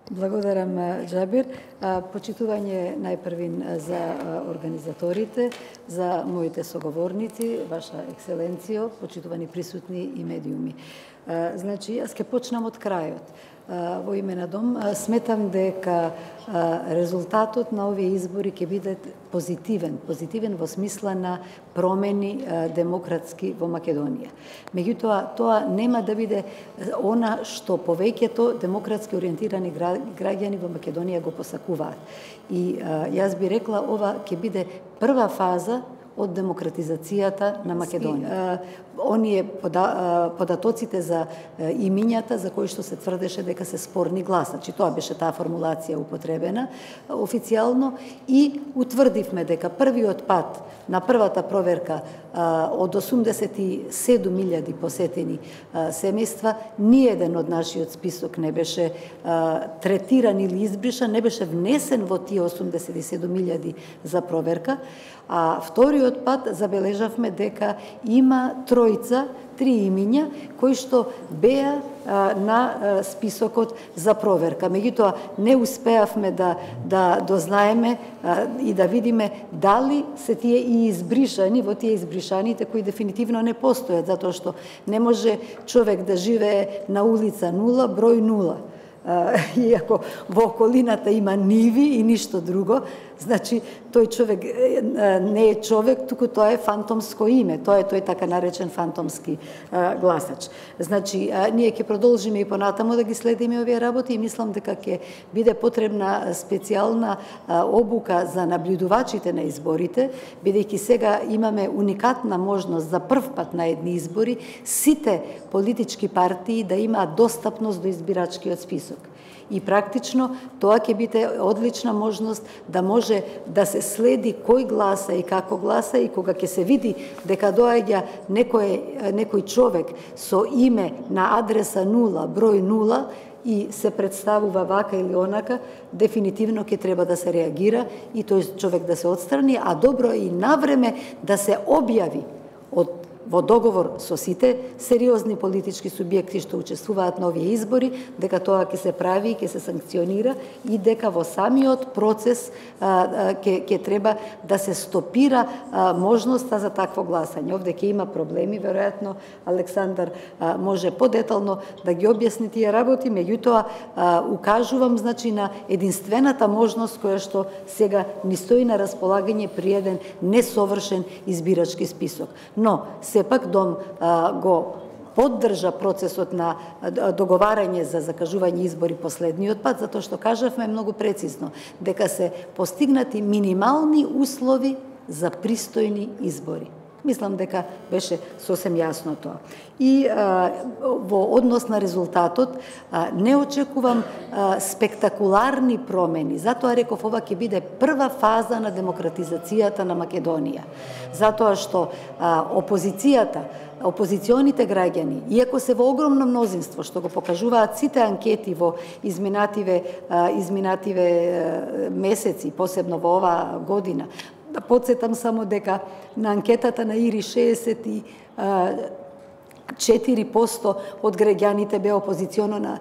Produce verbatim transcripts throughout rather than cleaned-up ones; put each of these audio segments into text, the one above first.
Благодарам, Џабир. Почитување најпрвин за организаторите, за моите соговорници, Ваша екселенцијо, почитувани присутни и медиуми. Значи, јас ќе почнам од крајот. Во име на Дом, сметам дека резултатот на овие избори ќе биде позитивен, позитивен во смисла на промени демократски во Македонија. Меѓутоа, тоа нема да биде она што повеќето демократски ориентирани граѓани во Македонија го посакуваат. И јас би рекла, ова ќе биде прва фаза од демократизацијата на Македонија. Оние податоците за имињата за кои што се тврдеше дека се спорни гласачи, тоа беше таа формулација употребена официјално, и утврдивме дека првиот пат на првата проверка од осумдесет и седум илјади посетени семејства, ниеден од нашиот список не беше третиран или избришан, не беше внесен во тие осумдесет и седум илјади за проверка, а вториот пат забележавме дека има тројца, три имиња, кои што беа на списокот за проверка. Меѓутоа, не успеавме да, да дознаеме и да видиме дали се тие и избришани во тие избришаните кои дефинитивно не постојат, затоа што не може човек да живее на улица нула, број нула. Иако во околината има ниви и ништо друго, значи тој човек не е човек, туку тоа е фантомско име, тоа е тој така наречен фантомски гласач. Значи, ние ќе продолжиме и понатаму да ги следиме овие работи и мислам дека ќе биде потребна специјална обука за наблюдувачите на изборите, бидејќи сега имаме уникатна можност за прв пат на едни избори сите политички партии да имаат достапност до избирачкиот список. И практично тоа ќе биде одлична можност да може да се следи кој гласа и како гласа, и кога ќе се види дека доаѓа некој, некој човек со име на адреса нула, број нула, и се представува вака или онака, дефинитивно ќе треба да се реагира и тој човек да се отстрани, а добро и навреме да се објави од во договор со сите сериозни политички субјекти што учествуваат на овие избори, дека тоа ќе се прави и ќе се санкционира и дека во самиот процес ќе ќе треба да се стопира а, можноста за такво гласање. Овде ќе има проблеми, веројатно Александар а, може подетално да ги објасни тие работи, меѓутоа укажувам значи на единствената можност која што сега ни стои на располагање при еден несовршен избирачки список. Но сепак Дом а, го поддржа процесот на договарање за закажување избори последниот пат, затоа што кажавме многу прецизно дека се постигнати минимални услови за пристојни избори. Мислам дека беше сосем јасно тоа. И а, во однос на резултатот а, не очекувам а, спектакуларни промени. Затоа реков, ова ќе биде прва фаза на демократизацијата на Македонија. Затоа што а, опозицијата, опозиционите граѓани, иако се во огромно мнозинство, што го покажуваат сите анкети во изминативе, а, изминативе а, месеци, посебно во оваа година, да подсетам само дека на анкетата на ИРИ шеесет и четири проценти од граѓаните беа опозиционо на,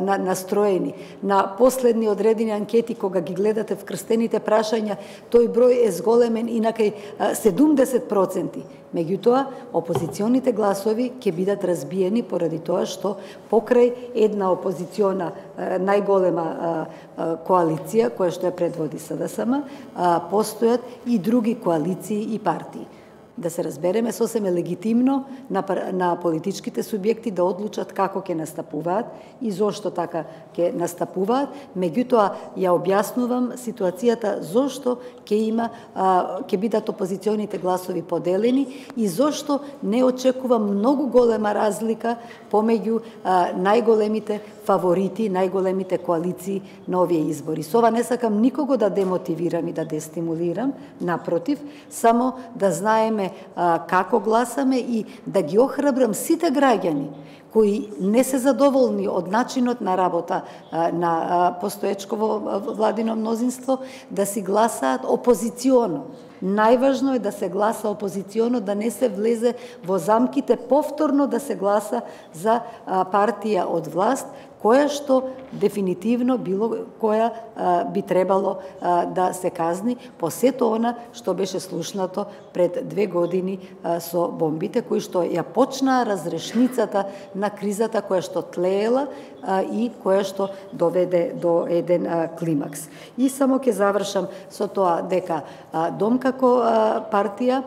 на, настроени. На последни одредени анкети, кога ги гледате вкрстените прашања, тој број е зголемен и на кај седумдесет проценти. Меѓутоа, опозиционите гласови ќе бидат разбиени поради тоа што покрај една опозициона најголема коалиција, која што ја предводи СДСМ, постојат и други коалиции и партии. Да се разбереме, сосем е легитимно на, на политичките субјекти да одлучат како ќе настапуваат и зошто така ќе настапуваат, меѓутоа ја објаснувам ситуацијата зошто ќе има ќе бидат опозиционите гласови поделени и зошто не очекувам многу голема разлика помеѓу најголемите фаворити, најголемите коалиции на овие избори. Со ова не сакам никого да демотивирам и да дестимулирам, напротив, само да знаеме а, како гласаме и да ги охрабрам сите граѓани кои не се задоволни од начинот на работа а, на а, постоечково владино мнозинство, да си гласаат опозиционо. Најважно е да се гласа опозиционо, да не се влезе во замките повторно да се гласа за а, партија од власт, која што дефинитивно било која би требало да се казни по сето она што беше слушнато пред две години со бомбите, кои што ја почнаа разрешницата на кризата која што тлеела и која што доведе до еден климакс. И само ќе завршам со тоа дека Дом како партија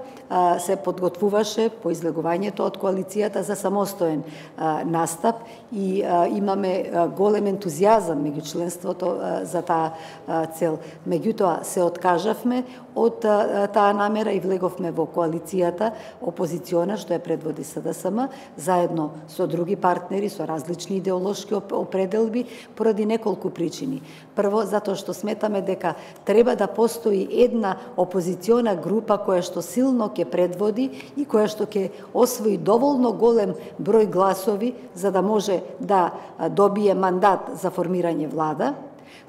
се подготвуваше по излегувањето од коалицијата за самостоен настап и имаме голем ентузијазам меѓу членството за таа цел. Меѓутоа се откажавме од таа намера и влеговме во коалицијата опозициона што ја предводи СДСМ заедно со други партнери со различни идеолошки определби поради неколку причини. Прво, затоа што сметаме дека треба да постои една опозициона група која што силно ќе предводи и која што ќе освои доволно голем број гласови за да може да добие мандат за формирање влада.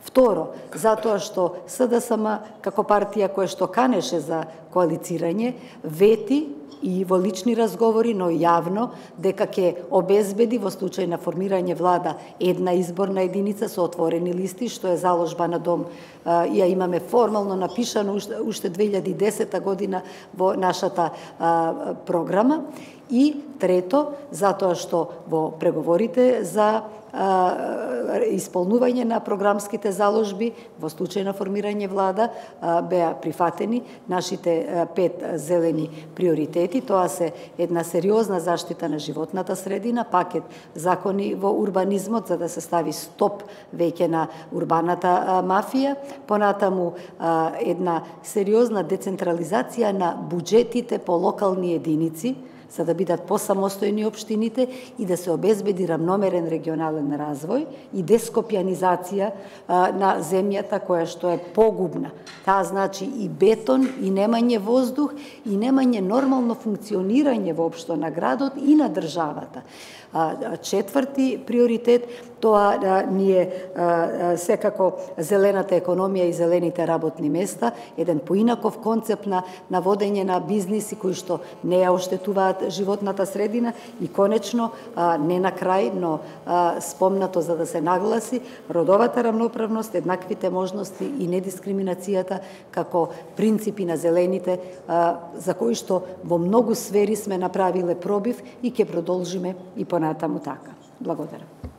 Второ, затоа што СДСМ како партија која што канеше за коалицирање вети и во лични разговори, но јавно, дека ќе обезбеди во случај на формирање влада една изборна единица со отворени листи, што е заложба на Дом, и ја имаме формално напишано уште две илјади и десета година во нашата програма. И трето, затоа што во преговорите за исполнување на програмските заложби во случај на формирање влада беа прифатени нашите пет зелени приоритети. Тоа се една сериозна заштита на животната средина, пакет закони во урбанизмот за да се стави стоп веќе на урбаната мафија, понатаму една сериозна децентрализација на буџетите по локални единици, за да бидат посамостојни општините и да се обезбеди рамномерен регионален развој и дескопјанизација на земјата која што е погубна. Таа значи и бетон, и немање воздух, и немање нормално функционирање воопшто на градот и на државата. Четврти приоритет, тоа ние секако зелената економија и зелените работни места, еден поинаков концепт на, на водење на бизниси кои што не ја оштетуваат животната средина и конечно, не на крај, но спомнато за да се нагласи, родовата рамноправност, еднаквите можности и недискриминацијата како принципи на зелените за кои што во многу сфери сме направиле пробив и ќе продолжиме и понатаму така. Благодарам.